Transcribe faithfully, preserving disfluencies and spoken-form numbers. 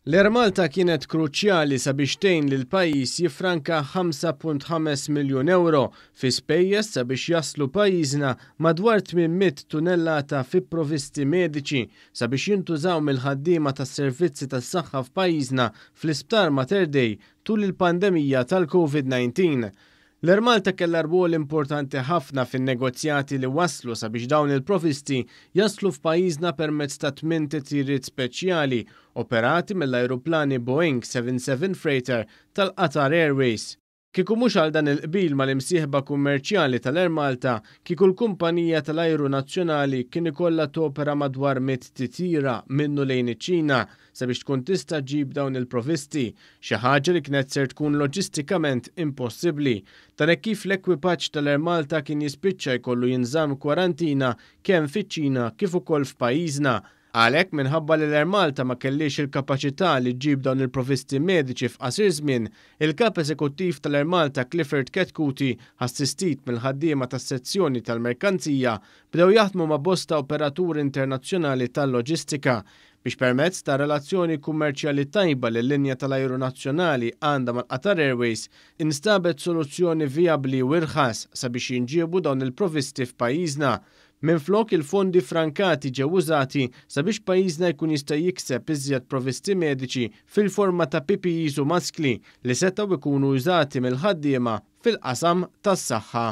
L-Air Malta kienet kruċjali sabiex tgħin lil pajjiż jiffranka ħamsa punt ħames miljun euro fi spejjeż sabiex jaslu pajjiżna madwar tmien mitt tunnellata fi provisti mediċi sabiex jintużaw mill-ħaddiema tas-servizzi tas-saħħa f'pajjiżna fl-Isptar Mater Dei tul il-pandemija tal-Covid nineteen. L-Air Malta kellha rwol importanti ħafna fin-negozjati li waslu sabiex dawn il-provisti jaslu f'pajjiżna permezz ta' tmien titjiriet speċjali operati mill-ajruplani Boeing seven seven Freighter tal-Qatar Airways. Kieku mhux għal dan il-qbil mal-imsieħba kummerċjali tal-Air Malta, kieku l-kumpanija tal-ajru nazzjonali kien ikollha topera madwar mitt titjira minnu lejn iċ-Ċina sabiex tkun tista' ġġib dawn il-provisti, xi ħaġa li kienet ser tkun loġistikament impossibbli. Dan hekk kif l-ekwipaġġ tal-Air Malta kien jispiċċa jkollu jinżamm kwarantina kemm fiċ-Ċina kif ukoll f'pajjiżna. Għalhekk minħabba li l-Air Malta ma kellix il-kapaċità li ġġib dawn il-provisti mediċi f'qasir żmien, il-kap eżekuttiv tal-Air Malta Clifford Chetcuti, assistit mill-ħaddiema tas-sezzjoni tal-merkanzija, bdew jaħdmu ma' bosta operaturi internazzjonali tal-loġistika biex permezz ta' relazzjoni kummerċjali tajba li l-linja tal-ajru nazzjonali għandha mal-Qatar Airways instabet soluzzjoni vijabbli u irħas sabiex jinġiebu dawn il-provisti f'pajjiżna. Minflok il-fondi frankati ġew użati sabiex pajjiżna jkun jista' jikseb iżjed provisti mediċi fil-forma ta' P P Es u maskli li setgħu jkunu użati mill-ħaddiema fil-qasam tas-saħħa.